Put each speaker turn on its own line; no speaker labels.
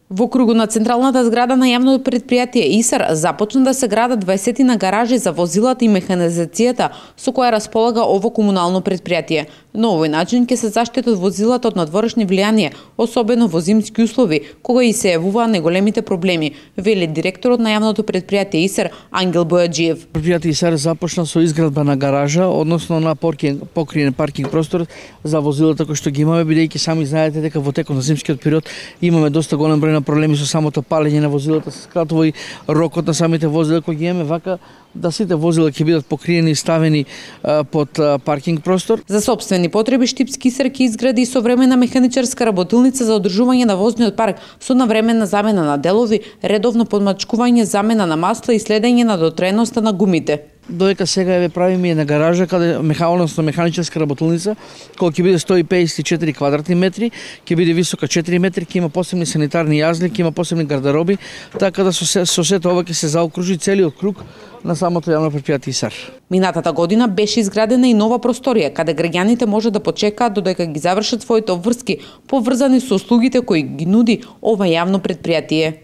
Во кругу на централната зграда на јавното предпријатие ИСАР започна да се градат 20 на гаражи за возилата и механизацијата со која располага ово комунално предпријатие. На овој начин ќе се заштитат возилата од надворешни влијанија, особено во зимски услови, кога и се јавуваат неголемите проблеми, вели директорот на јавното предпријатие ИСАР Ангел Бојаджиев.
Предпријатие ИСАР започна со изградба на гаража, односно на покриен паркинг простор за возилата кои што ги имаме, бидејќи сами знаете дека во текот на зимскиот период имаме доста голем број на проблеми со самото палење на возилата, се скратува и рокот на самите возила кои ги имаме, вака да сите возила ќе бидат покриени и ставени под паркинг простор.
За сопствени потреби Штипски ИСАР ќе изгради и современа механичарска работилница за одржување на возниот парк со навременна замена на делови, редовно подмачкување, замена на масла и следење на дотраеноста на гумите.
Додека сега ја правиме една гаража каде механичарска работилница, која ќе биде 154 квадратни метри, ќе биде висока 4 метри, ќе има посебни санитарни јазли, ќе има посебни гардероби, така да со сето ова ќе се заокружи целиот круг на самото јавно предпријатие ИСАР.
Минатата година беше изградена и нова просторија каде граѓаните може да почекаат додека ги завршат своите обврски, поврзани со услугите кои ги нуди ова јавно предпријатие.